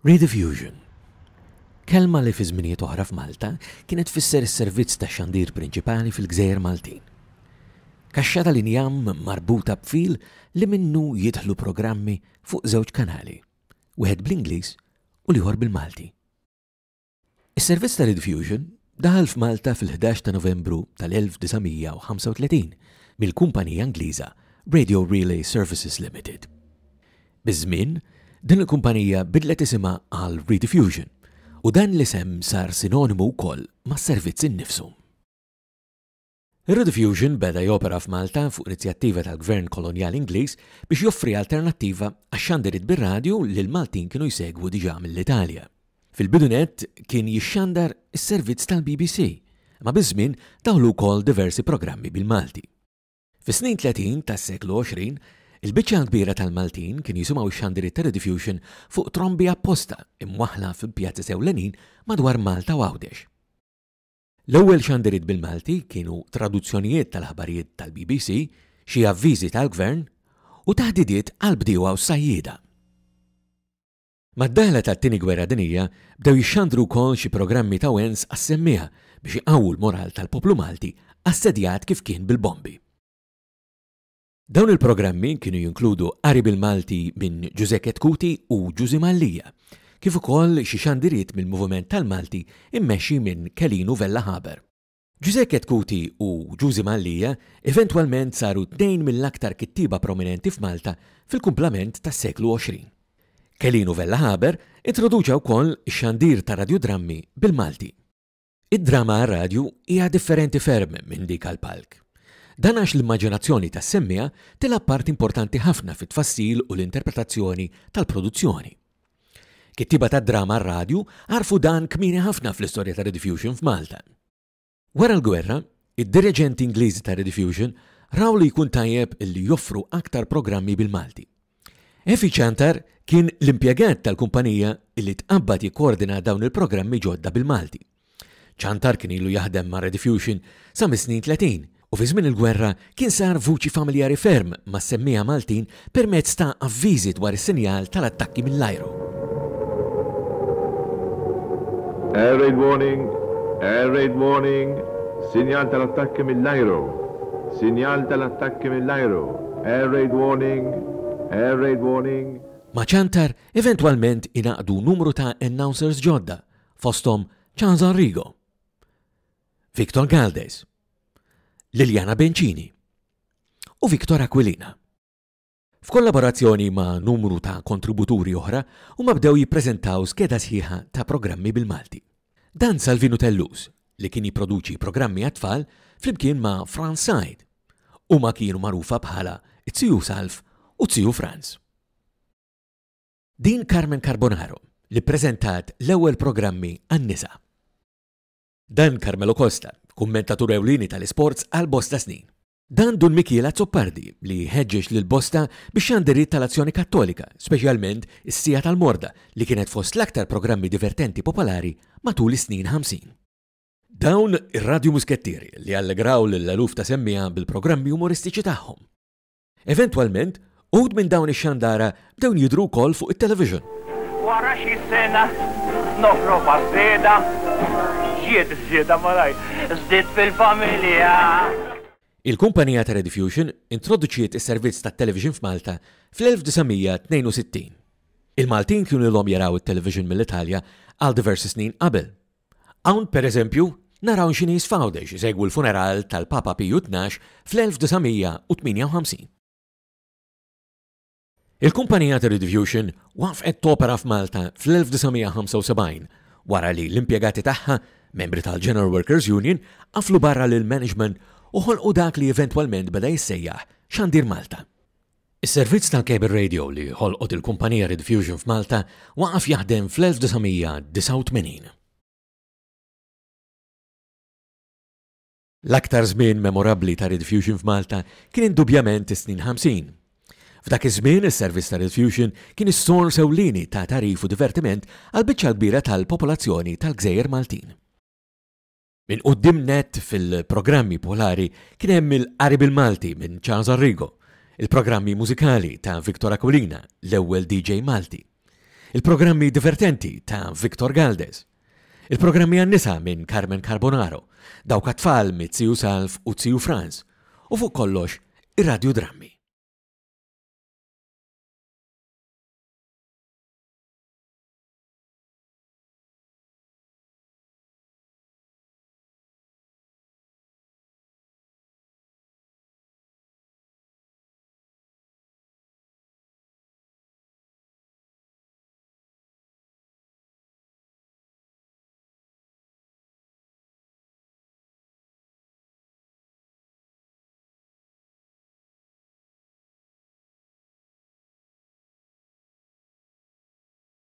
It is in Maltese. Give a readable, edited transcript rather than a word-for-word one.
Rediffusion. Kelma li fi żminijiet oħra f'Malta kienet tfisser is-servizz tax-xandir prinċipali fil-gżejjer Maltin. Kaxxa tal-injam marbuta b'fil li minnu jidħlu programmi fuq żewġ kanali, wieħed bl-Ingliż u l-ieħor bil-Malti. Is-servizz ta' Rediffusion daħal f'Malta fil-11 ta' Novembru tal-1935 mill-kumpanija Ingliża Radio Relay Services Limited. Biż-żmien, din il-kumpanija bidlet isimha għal Rediffusion u dan l-isem sar sinonimu wkoll mas-servizz innifsu. Ir-Rediffusion beda jopera f'Malta fuq inizjattiva tal-Gvern Kolonjali Ingliż biex joffri alternattiva għax-xandiriet bir-radju li l-Maltin kienu jsegwu diġà mill-Italja. Fil-bidu nett kien jixxandar is-servizz tal-BBC, imma biż-żmien daħlu wkoll diversi programmi bil-Malti. Fis-snin 30 tas-seklu 20, il-biċċa l-kbira tal-Maltin kienu jisimgħu x-xandiriet ta' Rediffusion fuq trombi apposta imwaħħla fi pjazez ewlenin madwar Malta u Għawdex. L-ewwel xandiriet bil-Malti kienu traduzzjonijiet tal-aħbarijiet tal-BBC, xi avviżi tal-Gvern, u taħdidiet għall-bdiewa u s-sajjieda. Mad-daħla tat-Tieni Gwerra Dinjija bdew jixxandru wkoll xi programmi ta' wens għas-semmiegħa biex iqawwu l-moral tal-poplu Malti assedjat kif kien bil-bombi. Dawn il-programmi kienu jinkludu qari bil-Malti minn Ġużè Chetcuti u Ġużi Mallia, kif ukoll xi xandiriet mill-Moviment tal-Malti mmexxi minn Kelinu Vella Haber. Ġużè Chetcuti u Ġużi Mallia eventwalment saru tnejn mill-aktar kittieba prominenti f'Malta fil-kumplament tas-seklu 20. Kelinu Vella Haber introduċa wkoll ix-xandir ta' radjudrammi bil-Malti. Id-drama għar-radju hija differenti ferm minn dik għall-palk. Dan għax l-immaġinazzjoni tas-semmiegħa tilgħab parti importanti ħafna fit-tfassil u l-interpretazzjoni tal-produzzjoni. Kittieba tad-drama għar-radju għarfu dan kmieni ħafna fl-istorja ta' Rediffusion f'Malta. Wara l-gwerra, id-diriġenti Ingliżi ta' Rediffusion raw li jkun tajjeb li joffru aktar programmi bil-Malti. Effie Ciantar kien l-impjegat tal-kumpanija li tqabbad jikkoordina dawn il-programmi ġodda bil-Malti. Ciantar kien ilu jaħdem ma' Rediffusion sa mis-snin 30 u fi żmien il-gwerra kien sar vuċi familjari ferm mas-semmiegħa Maltin permezz ta' avviżi dwar is-sinjal tal-attakki mill-ajru. Air raid warning! Air raid warning! Sinjal tal-attakki mill-ajru! Sinjal tal-attakki mill-ajru! Air raid warning! Air raid warning! Ma' Ciantar eventwalment ingħaqdu numru ta' announcers ġodda, fosthom Charles Arrigo, Victor Galdes, Liliana Bencini u Victor Aquilina. F'kollaborazzjoni ma' numru ta' kontributuri oħra, huma bdew jippreżentaw skeda sħiħa ta' programmi bil-Malti. Dan Salvinu Tellus, li kien jipproduċi programmi għat-tfal flimkien ma' Frans Said. Huma kienu magħrufa bħala t-Ziju Salv u t-Ziju Frans. Din Carmen Carbonaro li ppreżentat l-ewwel programmi għan-nisa. Dan Carmelo Costa, kummentatur ewlieni tal-isports għal bosta snin. Dan Dun Mikiel Azzopardi li ħeġġeġ lil bosta biex xandiriet tal-Azzjoni Kattolika, speċjalment is-Siegħa tal-Morda li kienet fost l-aktar programmi divertenti popolari matul is-snin 50. Dawn ir-Radju Muskettieri li allegraw lil eluf ta' semmiegħa bil-programmi umoristiċi tagħhom. Eventwalment, uħud minn dawn ix-xandara bdew jidhru wkoll fuq it-television. Wara xi sena noħrob għaż-żieda, ġiet iż-żieda malajr, żdied fil-familja. Il-kumpanija ta' Rediffusion introduċiet is-servizz tat-television f'Malta fl-1962. Il-Maltin kienu ilhom jaraw it-television mill-Italja għal diversi snin qabel. Hawn, per eżempju, naraw xi nies f'Għawdex isegwu l-funeral tal-Papa Piju Tnax fl-1958. Il-kumpanija ta' Rediffusion waqfet topera f'Malta fl-1975 wara li l-impjegati tagħha, membri tal-General Workers Union, qaflu barra lill-management u ħolqu dak li eventwalment beda jissejjaħ Xandir Malta. Is-servizz tal-cable radio li ħolqot il-kumpanija Rediffusion f'Malta waqaf jaħdem fl-1989. L-aktar żmien memorabbli ta' Rediffusion f'Malta kien indubjament is-snin 50. F'dak iż-żmien is-servizz ta' Rediffusion kien is-sors ewlieni ta' tagħrif u divertiment għall-biċċa l-kbira tal-popolazzjoni tal-gżejjer Maltin. Minn quddiem nett fil-programmi popolari kien hemm il-Qari bil-Malti minn Charles Arrigo, il-programmi mużikali ta' Victor Aquilina, l-ewwel DJ Malti. Il-programmi divertenti ta' Victor Galdes. Il-programmi għan-nisa minn Carmen Carbonaro, dawk għat-tfal mit-Ziju Salv u Ziju Frans, u fuq kollox, ir-radjudrammi.